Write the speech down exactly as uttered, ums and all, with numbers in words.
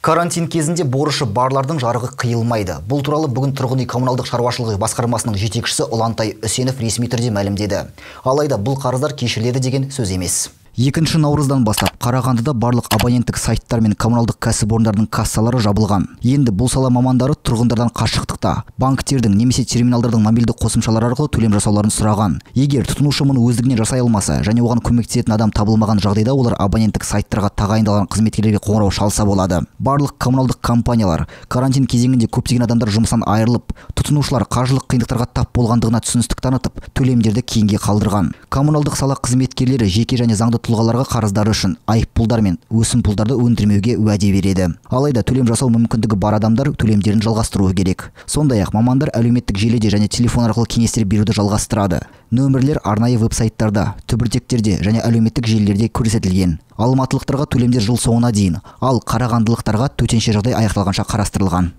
Карантин кезінде борышы барлардың жарығы қиылмайды. Бұл туралы бүгін тұрғын үй коммуналдық шаруашылығы басқармасының жетекшісі Ұлантай Үсенов ресми түрде мәлімдеді. Алайда бұл қарыздар кешіріледі деген сөз емес. екінші наурыздан бастап Қарағандыда барлық абоненттік сайттар мен коммуналдық кәсіпорындардың кассалары жабылған. Енді бұл сала мамандары тұрғындардан қашықтықта банктердің немесе терминалдардың мобильді қосымшалары арқылы төлем жасауларын сұраған. Егер тұтынушы мұны өздігінен жасай алмаса және оған көмектесетін адам табылмаған жағдайда, олар абоненттік сайттарға тағайындалған қызметкерлерге қоңырау шалса болады. Барлық коммуналдық компаниялар карантин кезеңінде көптеген адамдар жұмыстан айырылып, тұтынушылар қаржылық қиындықтарға тап болғандығына түсіністік танытып, төлемдерді кейінге қалдырған. Коммуналдық сала қызметкерлері жеке және заңды тұлғаларға қарыздары үшін айыппұлдар мен өсімпұлдарды өндірмеуге уәде береді. Алайда төлем жасау мүмкіндігі бар адамдар төлемдерін жалғастыруы керек. Сондай-ақ мамандар әлеуметтік желіде және телефон арқылы кеңестер беруді жалғастырады. Нөмірлер арнайы веб-сайттарда, түбіртектерде және әлеуметтік желілерде көрсетілген. Алматылықтарға төлемдер жыл соңына дейін, ал қарағандылықтарға төтенше жағдай аяқталғанша қарастырылған.